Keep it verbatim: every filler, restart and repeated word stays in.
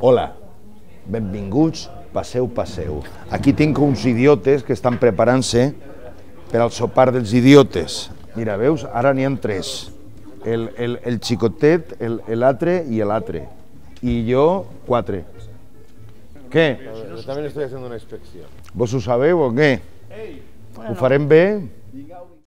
Hola, benvinguts, passeu, passeu. Aquí tinc uns idiotes que estan preparant-se per al sopar dels idiotes. Mira, veus? Ara n'hi ha tres. El, el, el xicotet, l'altre i l'altre. I jo, quatre. Què? Yo también estoy haciendo una inspección. Vos ho sabeu o què? Ho farem bé?